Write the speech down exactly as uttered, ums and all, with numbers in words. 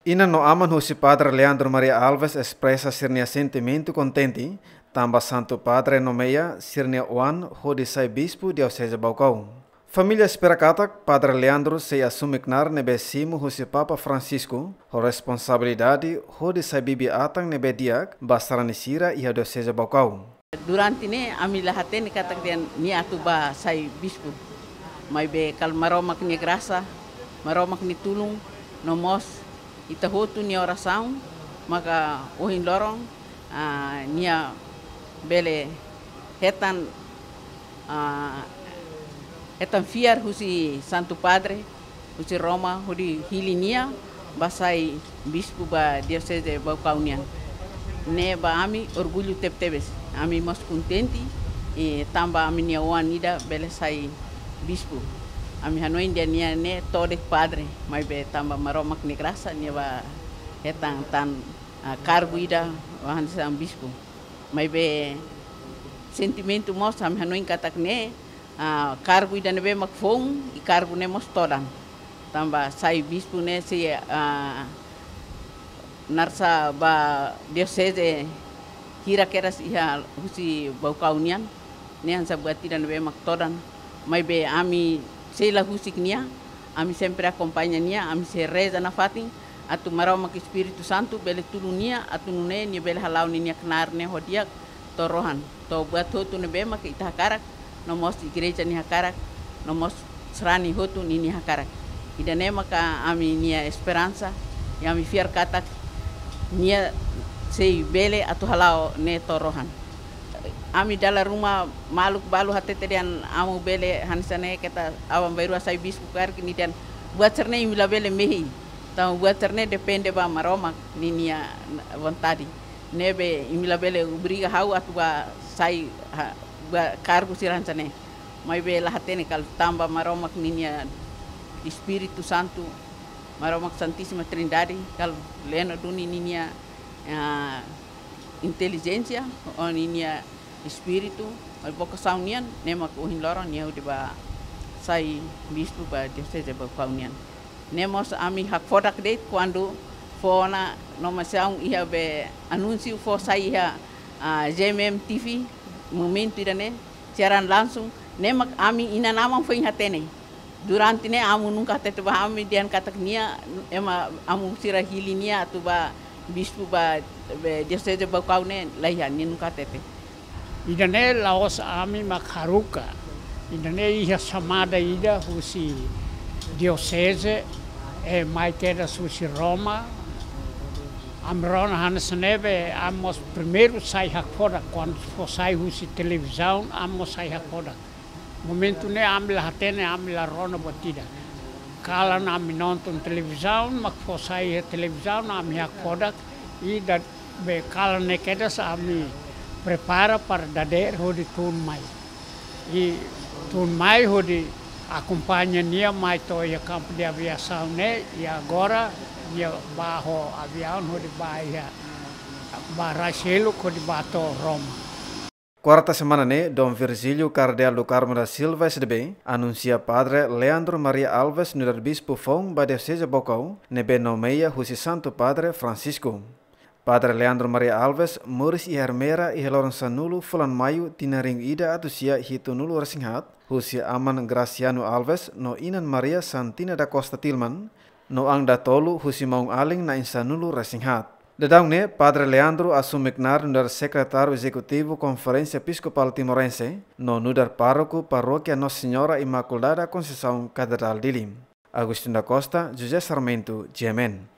Inan no aman husi Padre Leandro Maria Alves espresa sira-nia sentimentu kontente, tanba Santu Padre nomeia sira-nia oan hodi sai bispu Dioseze Baucau. Família espera katak Padre Leandro sei asume knaar ne'ebé simu husi Papa Francisco, ho responsabilidade hodi sai bibi-atan ne'ebé di'ak ba sarani sira iha Dioseze Baucau. Durante ne'e, ami la hatene katak dehan nia atu bá sai bispu. Maibé kala Maromak nia grasa, Maromak nia tulun, no mós ita hotu nia orasaun, maka ohin loron, ah, nia bele hetan, ah, hetan fiar husi Santu Padre, husi Roma, hodi hili nia bá sai bispu ba Dioseze Baucau nian. Ne'e ba ami orgullu tebetebes. Ami mós kontente, eh, tanba ami-nia oan ida bele sai bispu. Ami hanoin dehan nia ne'e to'o de'it padre, maibé tanba Maromak nia grasa, nia bá hetan tan, ah, kargu ida, hanesan bispu. Maibé sentimentu mós, ami hanoin katak ne'e, ah, kargu ida ne'ebé mak foun, i kargu ne'e mós todan. Tanba sai bispu ne'e sei, ah, narsa ba dioseze hira kedas iha husi Baucau nian, ne'e hanesan buat ida ne'ebé mak todan. Maibé ami sei la husik nia, ami sempre akompaña nia, ami sei reza nafatin, atu Maromak Espíritu Santu bele tulun nia, atu nune'e nia bele hala'o ninia knaar ne'e ho di'ak to'o rohan, to'o buat hotu ne'ebé mak ita hakarak, no mós igreja nia hakarak, no mós sarani hotu ninia hakarak. Ida-ne'e maka ami-nia esperansa, i ami fiar katak nia sei bele atu hala'o ne'e to'o rohan. Ami dala ruma maluk balu hatete dehan amu bele hanesan ne'e keta aban-bainrua sai bispu karik, nia dehan buat sira-ne'e imi labele mehi. Tanba buat sira-ne'e depende ba Maromak ninia vontade. Ne'ebé imi labele obriga ha'u atu bá sai ha-, bá kargu sira hanesan ne'e. Maibé la hatene katak tanba Maromak ninia Espíritu Santu, Maromak Santísima Trindade, katak leno duni ninia, ah, intelijénsia, ho ninia espíritu, ho vokasaun nian, ne'e mak ohin loron nia hodi bá sai bispu ba Dioseze Baucau nian. Ne'e mós ami hakfodak de'it kuandu fó ona nomeasaun iha be anúnsiu fó sai iha, ah, G M M T V, momentu ida-ne'e, siaran langsung, ne'e mak ami inan-aman foin hatene. Durante ne'e amu nunka hatete ba ami dehan katak nia, ema amu sira hili nia atu bá bispu ba, be, Dioseze Baucau ne'e, la iha, nia nunka hatete. Ida-ne'e la'ós ami mak haruka. Ida-ne'e iha xamada ida husi dioseze, eh, mai kedas husi Roma. Ami rona hanesan ne'ebé, ami mós primeiru sai hakfodak, kuandu fó sai husi televizaun, ami mós sai hakfodak. Momentu ne'e ami la hatene, ami la rona buat ida. Kalan ami nonton televizaun, mak fó sai iha televizaun, ami hakfodak, i da-, be kalan ne'e kedas ami prepara para dadeer hodi tun mai. I tun mai hodi akompaña nia mai to'o iha kampu de aviasaun ne'e, i agora nia bá ho aviaun hodi bá iha, bá rai seluk hodi bá to'o Roma. Kuarta semana ne'e, Dom Virgílio Kardeál do Carmo da Silva, S D B, anunsia Padre Leandro Maria Alves nu'udar bispu foun ba Dioseze Baucau, ne'ebé nomeia husi Santu Padre Francisco. Padre Leandro Maria Alves moris iha Ermera iha loron sanulu fulan Maiu tinan rihun ida atus sia hitunulu resin haat, husi aman Graciano Alves no inan Maria Santina da Costa Tilman, no an datolu husi maun-alin na'in sanulu resin haat. Daudaun ne'e, Padre Leandro asume knaar nu'udar Sekretáriu Ezekutivu Konferénsia Episkopál Timorense, no nu'udar Pároku Parókia Nossa Senhora Imaculada Conceição Katedrál Dili. Agostinho da Costa, José Sarmento, G M N.